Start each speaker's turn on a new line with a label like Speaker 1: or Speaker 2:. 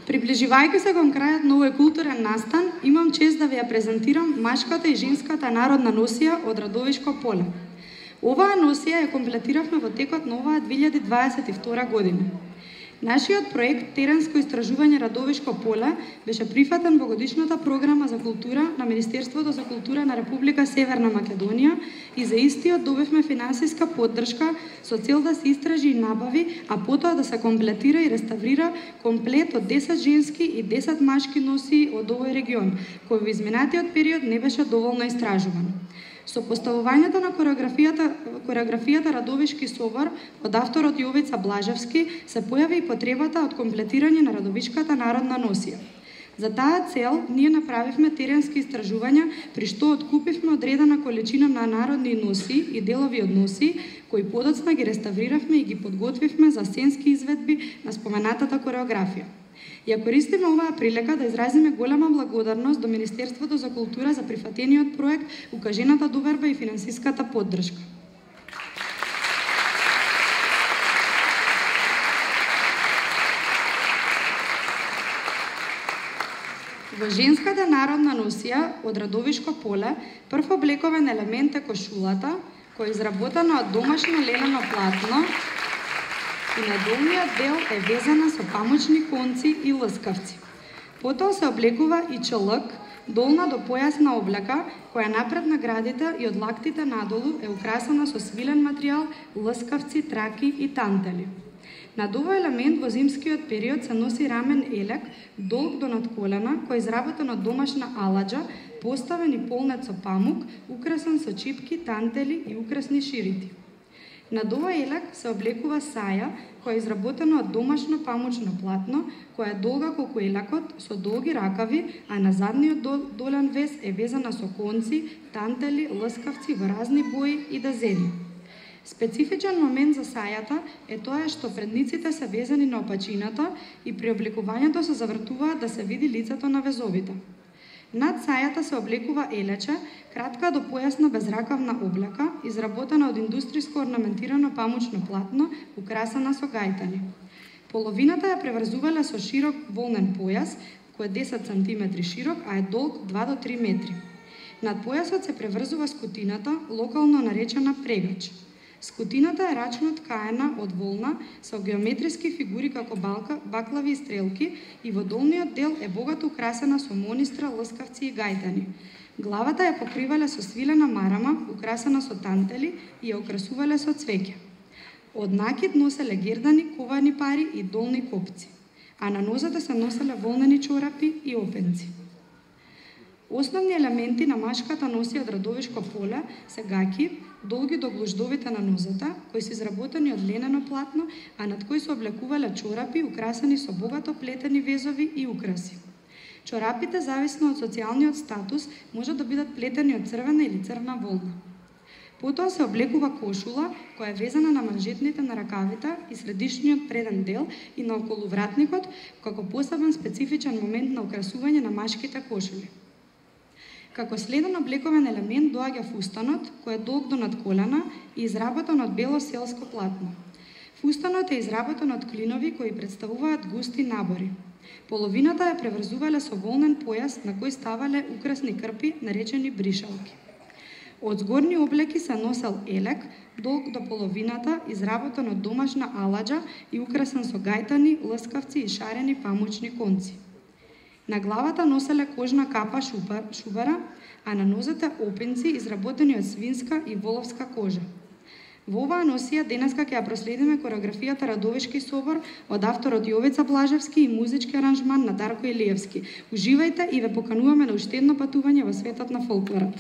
Speaker 1: Приближувајќи се кон крајот на овој културен настан, имам чест да ви ја презентирам машката и женската народна носија од Радовишко поле. Оваа носија ја комплетиравме во текот на оваа 2022 година. Нашиот проект Теренско истражување Радовишко поле беше прифатен во годишната програма за култура на Министерството за култура на Република Северна Македонија и за истиот добивме финансиска поддршка со цел да се истражи и набави, а потоа да се комплетира и реставрира комплет од 10 женски и 10 машки носии од овој регион, кој во изминатиот период не беше доволно истражуван. Со поставувањето на кореографијата Радовишки собор од авторот Јовица Блажевски се појави и потребата од комплетирање на Радовишката народна носија. За таа цел ние направивме теренски истражувања, при што откупивме одредена количина на народни носии и делови од носии, кои подоцна ги реставриравме и ги подготвивме за сценски изведби на споменатата кореографија. Ја користиме оваа прилика да изразиме голема благодарност до Министерството за култура за прифатениот проект, укажената доверба и финансиската поддршка. Во женската народна носија од Радовишко поле, прв облековен елемент е кошулата, која е изработена од домашно лелено платно и на долниот дел е везана со памучни конци и лъскавци. Потоа се облекува и чалък, долна до појасна облека, која напред на градите и од лактите надолу е украсена со свилен материјал, лъскавци, траки и тантели. Над овој елемент во зимскиот период се носи рамен елек, долг до над колена, кој е изработен од домашна аладжа, поставен и полнет со памук, украсен со чипки, тантели и украсни ширити. Над овој елек се облекува саја, која е изработена од домашно памучно платно, која е долга колку елекот, со долги ракави, а на задниот долен вез е везана со конци, тантели, лъскавци во разни бои и дазени. Специфичен момент за сајата е тоа што предниците се везани на опачината и при облекувањето се завртуваат да се види лицето на везовите. Над сајата се облекува елече, кратка до појасна безракавна облека, изработена од индустријско орнаментирано памучно платно, украсена со гајтани. Половината ја преврзувале со широк волнен појас, кој е 10 см широк, а е долг 2 до 3 метри. Над појасот се преврзува скутината, локално наречена прегач. Скутината е рачно ткаена од волна со геометриски фигури како баклави и стрелки и во долниот дел е богато украсена со монистра, лъскавци и гајтани. Главата ја покривале со свилена марама, украсена со тантели и ја украсувале со цвеќе. Од накид носеле гердани, ковани пари и долни копци, а на нозете се носеле волнени чорапи и опенци. Основни елементи на машката носија од Радовишко поле се гаќи, долги до глуждовите на нозата, кои се изработени од ленено платно, а над кои се облекувале чорапи украсени со богато плетени везови и украси. Чорапите, зависно од социјалниот статус, можат да бидат плетени од црвена или црна волна. Потоа се облекува кошула, која е везана на манжетните на ракавите и средишниот преден дел и на околувратникот, како посебен специфичен момент на украсување на машките кошули. Како следен облековен елемент доаѓа фустанот, кој е долг до над колена и изработен од бело селско платно. Фустанот е изработен од клинови кои представуваат густи набори. Половината ја преврзувале со волнен појас на кој ставале украсни крпи, наречени бришалки. Од згорни облеки се носел елек, долг до половината, изработен од домашна аладжа и украсен со гајтани, лъскавци и шарени памучни конци. На главата носеле кожна капа шубара, а на нозете опенци изработени од свинска и воловска кожа. Во оваа носија денеска ќе ја проследиме кореографијата Радовишки собор од авторот Јовица Блажевски и музички аранжман на Дарко Илиевски. Уживајте и ве покануваме на уште едно патување во светот на фолклорот.